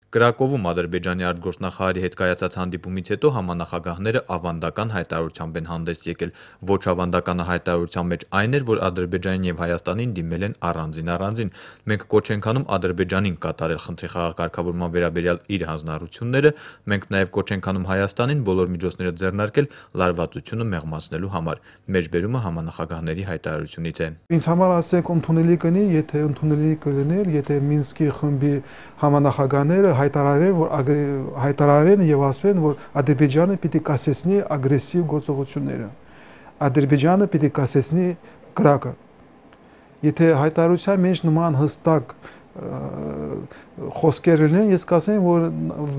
Կրակովում Ադրբեջանի արտգործնախարարի հետ կայացած հանդիպումից հետո համանախագահները ավանդական հայտարարությամբ են հանդես եկել։ Ոչ ավանդականը հայտարարության մեջ այն էր, որ Ադրբեջանին եւ Հայաստանին դիմել են առանձին։ Մենք կոչ ենք անում Ադրբեջանին կատարել խնդրի խաղակարգավորման վերաբերյալ իր հանձնառությունները, մենք նաեւ կոչ ենք անում Հայաստանին բոլոր միջոցները ձեռնարկել լարվածությունը մեղմացնելու համար։ Մեջբերումը համանախագահների հայտարարությունից է։ Ինձ համար ասենք ընդունելի կնի, եթե ընդունելի կլիներ, եթե Մինսկի խմբի համանախագահները հայտարարեն եւ ասեն, որ Ադրբեջանը պիտի կասեցնի ագրեսիվ գործողությունները։ Ադրբեջանը պիտի կասեցնի կրակը։ Եթե հայտարարության մեջ նման հստակ խոսքեր լինեն, ես կասեմ, որ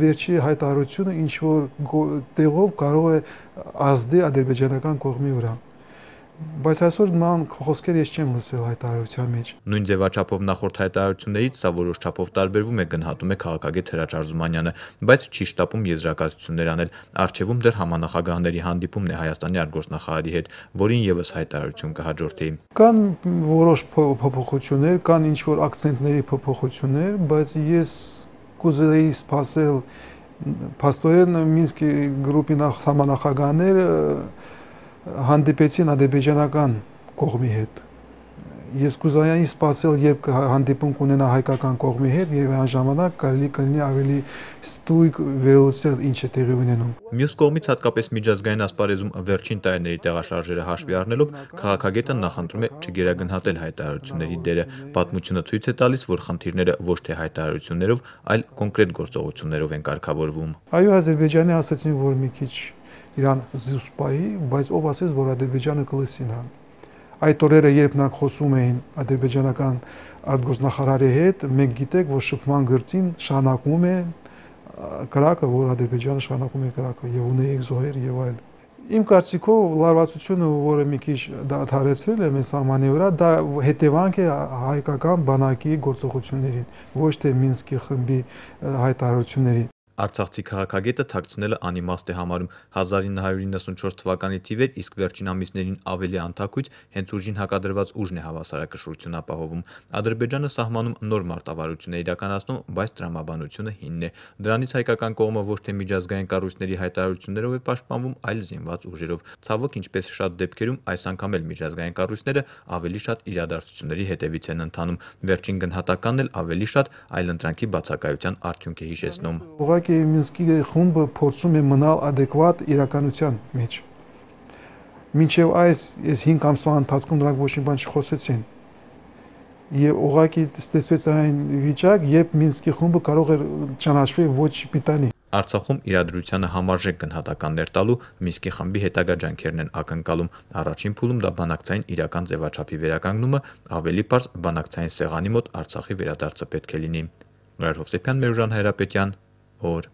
վերջի հայտարարությունը ինչ որ տեղով կարող է ազդի ադրբեջանական կողմի վրա։ Բայց այսօր նման խոսքեր ես չեմ լսել հայտարարության մեջ։ Նույն ձևաչափով նախորդ հայտարարություններից սա որոշ չափով տարբերվում է, գնահատում է քաղաքագետ Հրաչ Արզումանյանը, բայց չի շտապում եզրակացություններ անել։ Առջևում դեռ համանախագահների հանդիպումն է Հայաստանի արտգործնախարարի հետ, որին եւս հայտարարություն կհաջորդի։ Կան որոշ փոփոխություններ, կան ինչ որ ակցենտների փոփոխություններ, բայց ես կուզեի սպասել փաստորեն Մինսկի գրուպի համանախագահները հանդիպեցին ադրբեջանական կողմի հետ։ Ես կուզեի սպասել, երբ հանդիպում կունենա հայկական կողմի հետ եւ այն ժամանակ կարելի կլինի ավելի ստույգ վերլուծել ինչ է տեղի ունենում։ Մյուս կողմից հատկապես միջազգային ասպարեզում վերջին տարիների տեղաշարժերը հաշվի առնելով քաղաքագետը նախընտրում է չգերագնահատել հայտարարությունների դերը։ Պատմությունը ցույց է տալիս, որ խնդիրները ոչ թե հայտարարություններով, այլ կոնկրետ գործողություններով են կարգավորվում։ Այո, Ադրբեջանի ասացին, որ մի քիչ իրան զուսպայի, բայց ով ասեց, որ Ադրբեջանը կլսի նրան։ Այդ օրերը, երբ նրանք խոսում էին ադրբեջանական արտգործնախարարի հետ, մենք գիտենք, որ շփման գծին շարունակվում է կրակը, որ Ադրբեջանը շարունակում է կրակը եւ ունեիք զոհեր եւ այլ։ Իմ կարծիքով լարվածությունը, որը մի քիչ դադարեցրել է մեզ սահմանի վրա, դա հետևանք է հայկական բանակի գործողություններին, ոչ թե Մինսկի խմբի հայտարարությունների։ Արցախցի քաղաքագետը թաքցնելը անիմաստ է համարում 1994 թվականի թիվեր, իսկ վերջին ամիսներին ավելի անթաքույց հենց ուժին հակադրված ուժն է հավասարակշռություն ապահովում։ Ադրբեջանը սահմանում նոր մարտավարություն է իրականացնում, բայց տրամաբանությունը հինն է։ Դրանից հայկական կողմը ոչ թե միջազգային կառույցների հայտարարություններով է պաշտպանվում, այլ զինված ուժերով։ Ցավոք, ինչպես շատ դեպքերում, այս անգամ էլ միջազգային կառույցները ավելի շատ իրադարձությունների հետևից են ընթանում։ Վերջին գնահատականն էլ ավելի շատ այլընտրանքի բացակայության արդյունք է հիշեցնում։ Մինսկի խումբը փորձում է մնալ adekvat իրականության մեջ։ Մինչև այս 5 ամսվա ընթացքում նրանք ոչ մի բան չխոսեցին։ Եվ ուղղակի ստացվեց այն վիճակ, երբ Մինսկի խումբը կարող էր ճանաչվել ոչ պիտանի։ Արցախում իրադրությանը համարժեք գնահատականներ տալու Մինսկի խմբի հետագա ջանքերն են ակնկալում։ Առաջին փուլում դա բանակցային իրական ձևաչափի վերականգնումը, ավելի պարզ բանակցային սեղանի մոտ Արցախի վերադարձը պետք է լինի։ Նորեր Հովսեփյան, Մերուժան Հայրապետյան, օր